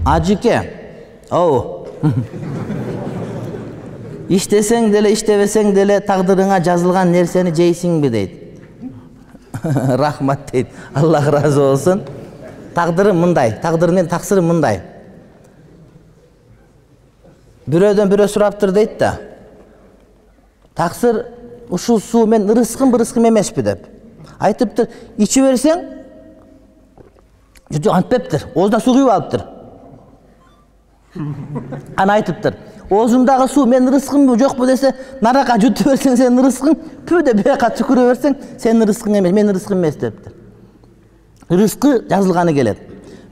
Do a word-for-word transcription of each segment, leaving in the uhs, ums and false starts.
Ажыке, оу. İştesең деле, иштебесең деле тагдырыңа жазылган нерсени жейсиңби дейт. Рахмат дейт. Аллах разы болсун. Тагдырым мындай, тагдырдын таксыры мындай. Бирөөдөн бирөө сураптыр дейт да. Таксыр ушул суу мен ырыскым бырыскым эмеспи деп. Айтыптыр, ичип берсең, жок антпептир. Оозуна суу күйүп алыптыр. Ана айтыптыр, оозуңдагы суу мен ырыскымбы жокпу десе, нарака жутуп берсең сенин ырыскың, пү деп бияка түкүрө берсең, сенин ырыскың эмес, менин ырыскым эмес дептир. Рызкы жазылганы келет.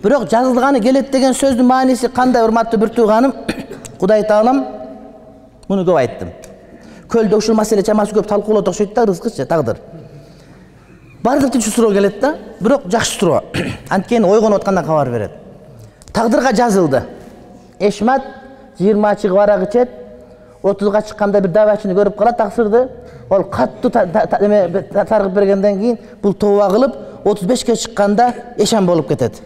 Бирок жазылганы келет деген сөздүн мааниси кандай, урматтуу бир тууганым? Кудай Таалам муну көп айттым. Көлдө ушул маселе чамасы көп талкуулоп окшойт да, рызкычы, тагдыр. Бардыктын суроо келет да, бирок жакшы суроо. Анткени ойгонуп аткандан кабар берет. Тагдырга жазылды. Эшмат жыйырма чыгып арак ичет, отузга чыкканда бир давачыны көрүп калат таксырды. Ол каттуу таргып бергенден кийин бул тооба кылып, отуз бешке чыкканда эшен болуп кетет.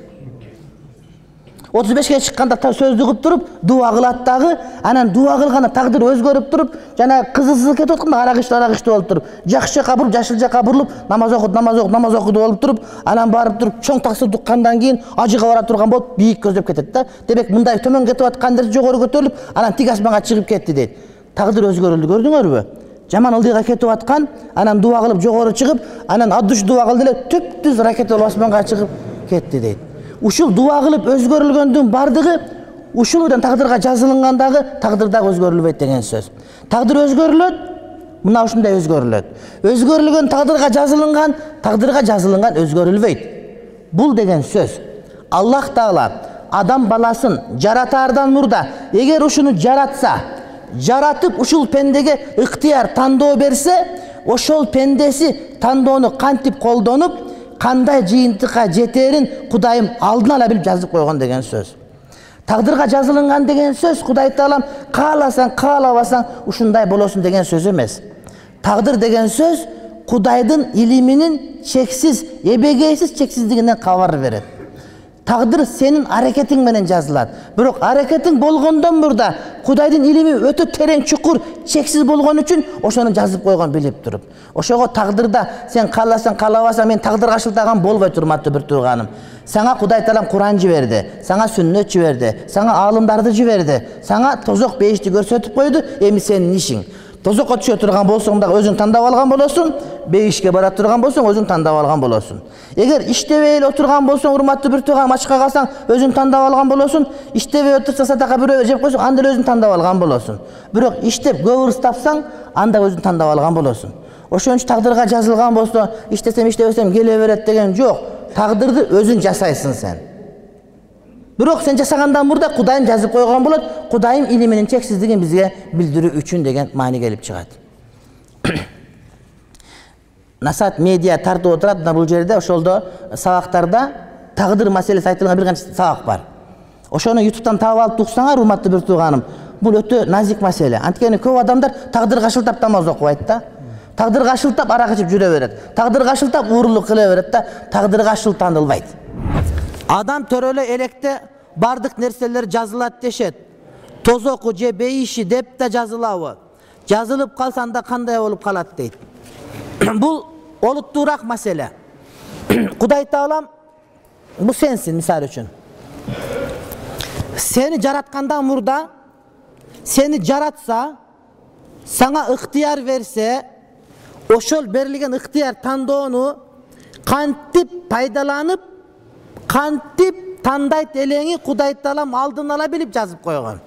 отуз бешке чыкканда сөздү угуп туруп, дуа кылат дагы, анан дуа кылганда тагдыр өзгөрүп туруп, жана кызысыз кетип атканда арак ичти, арак ичти болуп туруп, жакшы жака буруп, жашыл жака бурулуп, намаз окуду, намаз окуду, намаз окуду болуп туруп, анан барып туруп чоң таксыр туккандан кийин ажыга бара турган болуп, бийик көздөп кетет да. Демек мындай төмөн кетип аткан нерсе жогору көтөрүлүп, анан тик асманга чыгып кетти дейт. Тагдыр өзгөрүлдү, көрдүңөрбү? Жаман ылдыйга кетип аткан, анан дуа кылып жогору чыгып, анан адыш дуа кылды эле түп-түз ракета болуп асманга чыгып кетти дейт. Ушул дуа кылып өзгөрүлгөндүн бардыгы ушулдан тагдырга жазылгандагы тагдыр дагы өзгөрүлбөйт деген сөз. Тагдыр өзгөрүлөт, мына ушундай өзгөрүлөт. Өзгөрүлгөн тагдырга жазылган, тагдырга жазылган өзгөрүлбөйт. Бул деген сөз. Аллах Таала адам баласын жаратаардан мурда, эгер ушуну жаратса, жаратып ушул пендеге ыктыяр тандоо берсе, ошол пендеси тандоону кантип колдонуп, кандай жыйынтыкка жетерин Кудайым алдын ала билип жазып койгон деген сөз. Тагдырга жазылган деген сөз Кудай Таалам кааласаң, каалабасаң ушундай болосуң деген сөз эмес. Тагдыр деген сөз Кудайдын илиминин чексиз, эбегейсиз чексиздигинен кабар берет. Тагдыр сенин аракетиң менен жазылат. Бирок аракетиң болгондон мурда Кудайдын илими өтө терең, чукур, чексиз болгон үчүн ошону жазып койгон билип туруп. Ошого тагдырда сен кааласаң, каалабасаң мен тагдырга шылтаган болбойт, урматтуу бир тууганым. Сага Кудай Таалам Куран жиберди, сага сүннөт жиберди, сага аалымдарды жиберди, сага тозок бейишти көрсөтүп койду, эми сенин ишиң. Тозокко түшө турган болсоң дагы өзүң тандап алган болосуң, бейишке бара турган болсоң өзүң тандап алган болосуң. Эгер иштебей эле отурган болсоң, урматтуу бир тууганым, ачка калсаң өзүң тандап алган болосуң, иштебей отурсаң садака бирөө жеп койсоң, анда эле өзүң тандап алган болосуң. Бирок иштеп көп ырыс тапсаң, анда өзүң тандап алган болосуң. Ошон үчүн тагдырга жазылган болсо, иштесем, иштебесем келе берет деген жок. Тагдырды өзүң жасайсың сен. Бирок сен жасагандан мурда Кудайым жазып койгон болот, Кудайым илиминин чексиздигин бизге билдирүү үчүн деген маани келип чыгат. Насаат медиа тартып отурат мына бул жерде, ошолдо сабактарда тагдыр маселеси айтылган бир канча сабак бар. Ошону ютубтан таап алып уксаңар, урматтуу бир тууганым, бул өтө назик маселе. Анткени көп адамдар тагдырга шылтап намаз окубайт да. Тагдырга шылтап арак ичип жүрө берет. Тагдырга шылтап уурулук кыла берет да, тагдырга шылтанылбайт. Адам төрөлө электе бардык нерселер жазылат дешет. Тозоку же бейиши деп да жазылабы? Жазылып калса анда кандай болуп калат дейт. Бул олуттуураак маселе. Кудай Таалам бул сенсиң, мисалы үчүн. Сени жараткандан мурда, сени жаратса, сага ыктыяр берсе, ошол берилген ыктыяр тандоону кантип пайдаланып, кантип тандайт элеңи Кудай Таалам алдын ала билип жазып койгон.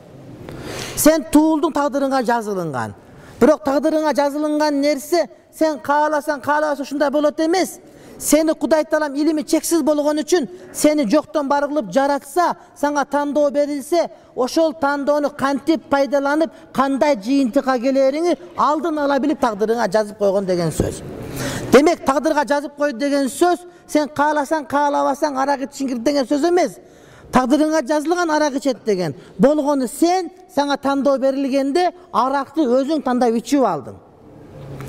Сен туулдуң тагдырыңа жазылган. Бирок тагдырыңа жазылган нерсе сен кааласаң, каалабасаң ушундай болот эмес. Сени Кудай Таалам илими чексиз болгон үчүн сени жоктон бар кылып жаратса, сага тандоо берилсе, ошол тандоону кантип пайдаланып, кандай жыйынтыкка келериңи алдын ала билип тагдырыңа жазып койгон деген сөз. Демек тагдырга жазып койду деген сөз сен кааласаң, каалабасаң арак ичиң деген сөз эмес. Тагдырыңа жазылган арак ичет деген. Болгону сен сага тандоо берилгенде аракты өзүң тандап ичип алдың.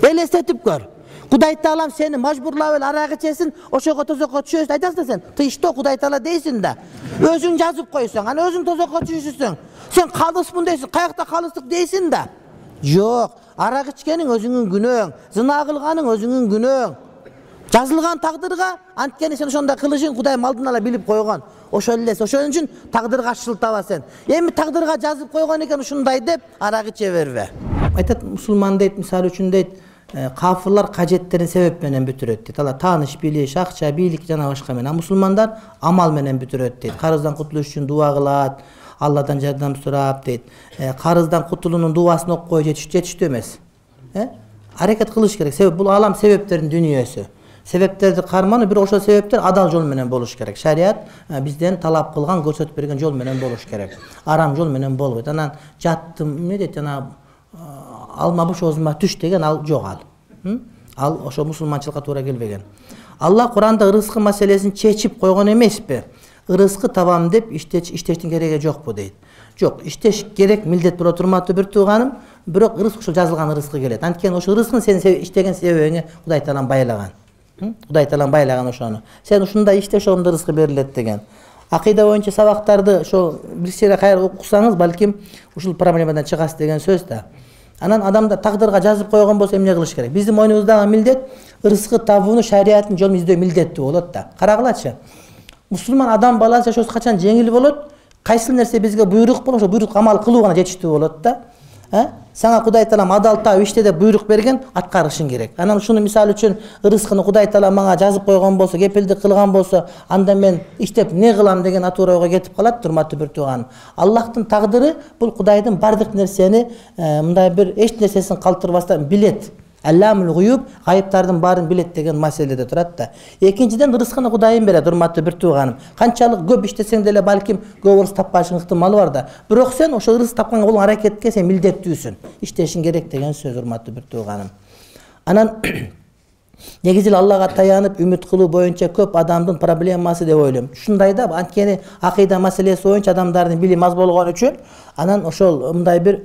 Элестетип көр. Кудай Таалам сени мажбурлап эле арак ичесин, ошого тозокко түшөсүң, айтасың да сен. Тыйышты Кудай Таала дейсиң да. Өзүң жазып койсоң, ана өзүң тозокко түшүсүң. Сен калыспын дейсиң, каякта калыстык дейсиң да. Жок, арак ичкениң өзүңүн күнөөң, зына кылганың өзүңүн күнөөң. Жазылган тагдырга анткени сен ошондой кылышың Кудайым алдын ала билип койгон. Ошол эле, ошон үчүн тагдырга шылтаба сен. Эми тагдырга жазып койгон экен ушундай деп арак иче бербе. Айтат мусулман дейт, мисалы үчүн дейт, кафырлар кажеттерин себеп менен бүтүрөт дейт. Алар тааныш, билиш, акча, бийлик жана башка менен. А мусулмандар амал менен бүтүрөт дейт. Карыздан кутулуш үчүн дуа кылат, Алладан жардам сурап дейт. Карыздан кутулуунун дуасын окуп жетиштүү эмес. Аракет кылыш керек. Себеп бул алам себептердин дүйнөсү. Себептерди кармануу, бирок ошол себептер адал жол менен болуш керек. Шарият бизден талап кылган, көрсөтүп берген жол менен болуш керек. Арам жол менен болбойт. Анан жаттым, эмне дейт, жана алма буш оозума түш деген ал жок ал. Ал ошо мусулманчылыкка туура келбеген. Алла Куранда ырыскы маселесин чечип койгон эмеспи? Ырыскы табам деп иштештин кереги жокпу дейт. Жок, иштеш керек, милдет боло турматтуу бир тууганым, бирок ырыскы ушул жазылган ырыскы келет. Анткени ошол ырыскын сен иштеген себебиңе Кудай Таалам байлаган. Кудай Таалам байлаган ошону. Сен ушундай иште ошондо ырыскы берилет деген. Акыйда боюнча сабактарды ошо бир сере кайра окусаңыз, балким ушул проблемадан чыгасыз деген сөз да. Анан адамда тагдырга жазып койгон болсо эмне кылыш керек? Биздин мойнубуздагы милдет ырыскы табууну шариаттын жолун издөө милдеттүү болот да. Карагылачы. Мусулман адам баласы жашоосу качан жеңил болот? Кайсы нерсе бизге буйрук болот, ошо буйрукка амал кылуу гана жетиштүү болот да. Сага Кудай Таалам адал табып иште деп буйрук берген, аткарышың керек. Анан ушуну мисалы үчүн ырыскыны Кудай Таалам мага жазып койгон болсо, кепилдик кылган болсо, анда мен иштеп не кылам деген атуура ойго кетип калат, урматтуу бир тууганым. Аллахтын тагдыры бул Кудайдын бардык нерсени, мындай бир эч нерсесин калтырбастан билет. Алламул гуюб, гайыптардын баарын билет деген маселеде турат да. Экинчиден ырыскыны Кудайым берет, урматтуу бир тууганым. Канчалык көп иштесең деле балким көп ырыс таппашың ыктымалы бар да. Бирок сен ошол ырыс тапканга болгон аракетке сен милдеттүүсүн. Иштешиң керек деген сөз, урматтуу бир тууганым. Анан негизи эле Аллага таянып үмүт кылуу боюнча көп адамдын проблемасы деп ойлойм. Ушундай да, анткени акыйда маселеси боюнча адамдардын билими аз болгон үчүн, анан ошол мындай бир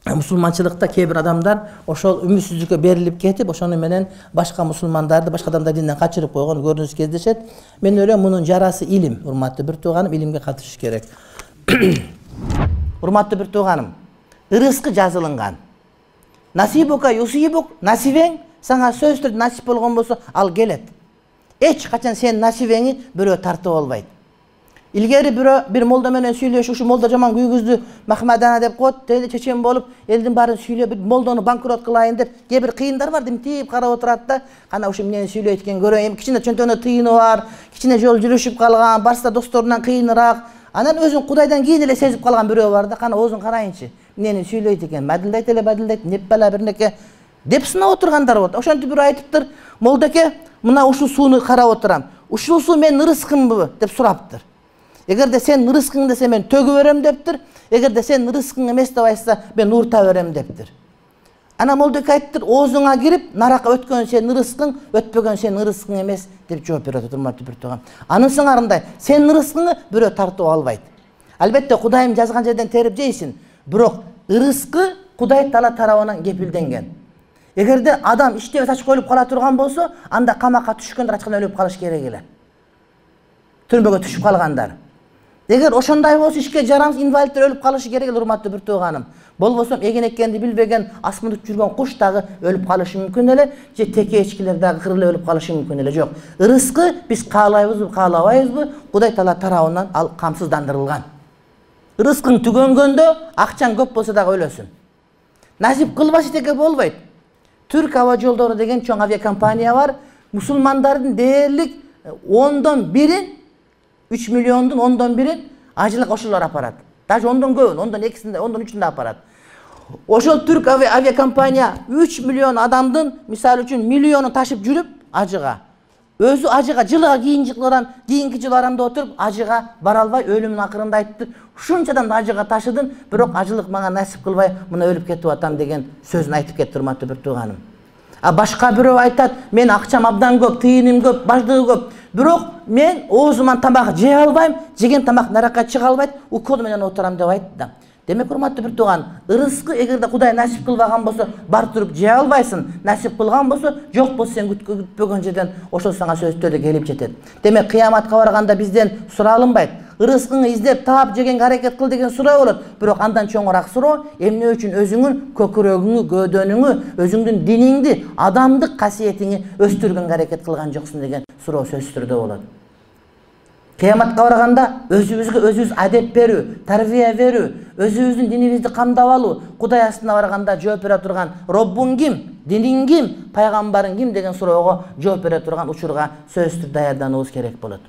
мусулманчылыкта кээ бир адамдар ошол үмүтсүздүккө берилип кетип, ошону менен башка мусулмандарды, башка адамдар динден качырып койгон көрүнүш кездешет. Мен ойлойм, мунун жарасы илим. Урматтуу бир тууганым, илимге катышыш керек. Урматтуу бир тууганым, ырыскы жазылынган. Насибука юсибук, насибең сага сөзсүз түрдө насип болгон болсо, ал келет. Эч качан сен насибеңи бирөө тартып албайт. Илгери бирөө бир молда менен сүйлөшүп, ушу молда жаман күйгүздү, Махмадана деп коет, тени чечен болуп, элдин баарын сүйлөп, молдону банкрот кылайын деп, кээ бир кыйындар бар, димтип карап отурат да, кана ушу эмнени сүйлөйт экен көрөйүн, кичине чөнтөгүнө тыйыны бар, кичине жол жүрүшүп калган, барса досторунан кыйыныраак, анан өзүн Кудайдан кийин эле сезип калган бирөө бар да, кана оозун карайынчы, эмнени сүйлөйт экен, мадилдайт эле мадилдайт, неп бала бирнеке деп сынап отургандар болот. Ошентип бирөө айтыптыр, молдеке, мына ушул сууну карап отурам, ушул суу менин ырыскымбы деп сураптыр. Эгерде сен ырыскың десе мен төгүп берем дептир. Эгерде сен ырыскың эмес деп айтса, мен уурта берем дептир. Ана молдеке айттыр, оозуңа кирип, наракка өткөн сен ырыскың, өтпөгөн сен ырыскың эмес деп жооп берет, урматтуу бир тууган. Анын сыңарындай, сен ырыскыңы бирөө тартып албайт. Албетте Кудайым жазган жерден терип жейсиң, бирок ырыскы Кудай Таала тарабынан кепилденген. Эгерде адам иштебей тач коюлуп кала турган болсо, анда камакка түшкөндөр ачкан өлүп калыш керек эле. Түрмөгө түшүп калгандар. Эгер ошондой болсо ишке жарамсыз инвалидтер өлүп калышы керек эле, урматтуу бир тууганым. Болбосо эген эккенди билбеген асманда жүргөн куш дагы өлүп калышы мүмкүн эле, же текечкилер дагы кырылып өлүп калышы мүмкүн эле. Жок, ырыскы биз каалайбызбы, каалабайбызбы, Кудай Таала тарабынан ал камсыздандырылган. Ырыскың түгөнгөндө акчаң көп болсо дагы өлөсүн. Насип кылбаш эчеке болбойт. Түрк аба жолдору деген чоң авиакомпания бар. Мусулмандардын дээрлик ондон бирин, үч миллиондун ондон бирин ажылык ошолор апарат. Даже ондон көбүн, ондон экисинде, ондон үчүндө апарат. Ошол түрк авиакомпания үч миллион адамдын, мисалы үчүн, миллионун ташып жүрүп ажыга. Өзү ажыга жылга кийинки жыл арамда отуруп ажыга бара албай өлүмүнүн акырында айтты. Ушунчадан ажыга ташыдым, бирок ажылык мага насип кылбай, мына өлүп кетип атам деген сөзүн айтып кетти, урматтуу бир тууганым. А башка бирөө айтат, мен акчам абдан көп, тыйыным көп, баждыгы көп. Бирок мен оозуман тамак жей албайм, жеген тамак наракка чыга албайт, укол менен отурам деп айтты да. Демек урматтуу бир тууган, ырыскы эгерде Кудай насип кылбаган болсо, бар туруп жей албайсың. Насип кылган болсо, жок болсо сен күтпөгөн жерден ошол сага сөздөр келип жетет. Демек кыяматка барганда бизден суралынбайт. Ырыскыңы издеп таап жегенге аракет кыл деген суроо болот. Бирок андан чоңураак суроо, эмне үчүн өзүңүн көкүрөгүңү, гөөдөнүңү, өзүңдүн диниңди, адамдык касиетиңи өстүргөнгө аракет кылган жоксуң деген суроо сөзсүз түрдө болот. Кыяматка барганда өзүбүзгө өзүбүз адеп берүү, тарбия берүү, өзүбүздүн динибизди камдап алуу, Кудай астына барганда жооп бере турган Роббуң ким, диниң ким, пайгамбарың ким деген суроого жооп бере турган учурга сөзсүз даярдануубуз керек болот.